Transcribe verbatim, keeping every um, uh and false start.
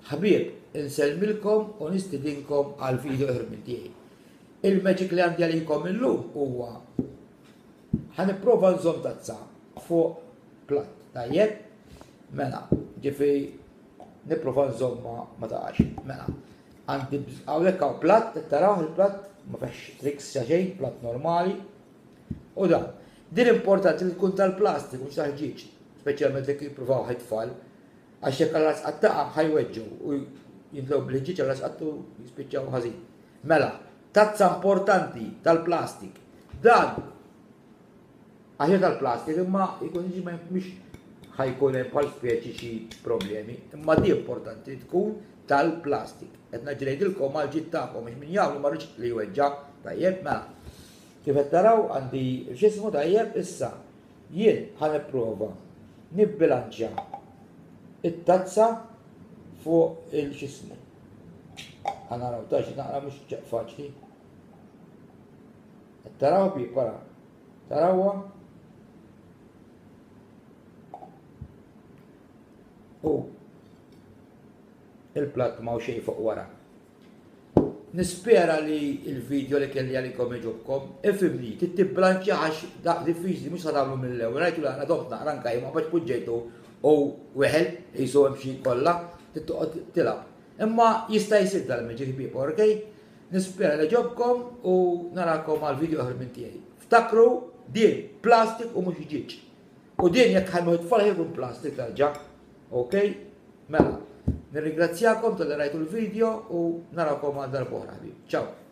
Ħbieb, insellmilkom u nistidinkom għal video ieħor minn tiegħi. Il-magic li għandi għalikom illum huwa ħa nipprova nżomm tazza fuq platt, tajjeb? Mela, ġifieri nipprova nżomma ma taqax. Mela, għandi hawnhekk hawn platt, taraw il-platt, ma fiex tricks xejn, platt normali. U dan, din importanti li tkun tal-plastik, mhux tal-ħġieġ, speċjalment jekk jippruvaw it-tfal, għax jekk għal qattaqa ħa jweġġgħu u jintlew bil-ħġieġ għal qattu jispiċċaw ħażin. Mela, tazza importanti tal-plastik. Dan aħjar tal-plastik imma jkun jiġi mhux ħa jkun hemm bħal speċi xi problemi, imma di importanti tkun tal-plastik. Qed ngħidilkom għal ġid tagħkom biex min jagħmlu ma rridx li jweġġa' tajjeb mela. Kif qed taraw għandi x'ismu tajjeb issa jien ħa nipprova nibbilanċja it-tazza fuq il-x'ismu. Ħa naraw ta' xi naqra mhux faċli. Qed taraw bi para. Tarawha? U il-platt ma xejn fuq wara. Nispera li il-video li kelli għalikom jogħġobkom. Ifhimni, titiblanċja għax dak diffiċli mhux tagħmlu mill-ewwel. Rajtu li aħna domt naqra anke ma biex poġġejtu u weħel jisu hemm xi kollha, tittoqgħod tilgħab. Imma jista' jsir dal-magic ħbieb, okej? Nispera li jogħġobkom u narakom għal video ieħor minn tiegħi. Ftakru din plastik u mhux ħġieġ. U din jekk ħajmu t-tfal jkun plastik tarġa'. Okej? Mela, nirringrazzjakom talli rajtu l-video u narakom għal darb'oħra ħbieb. Ciao.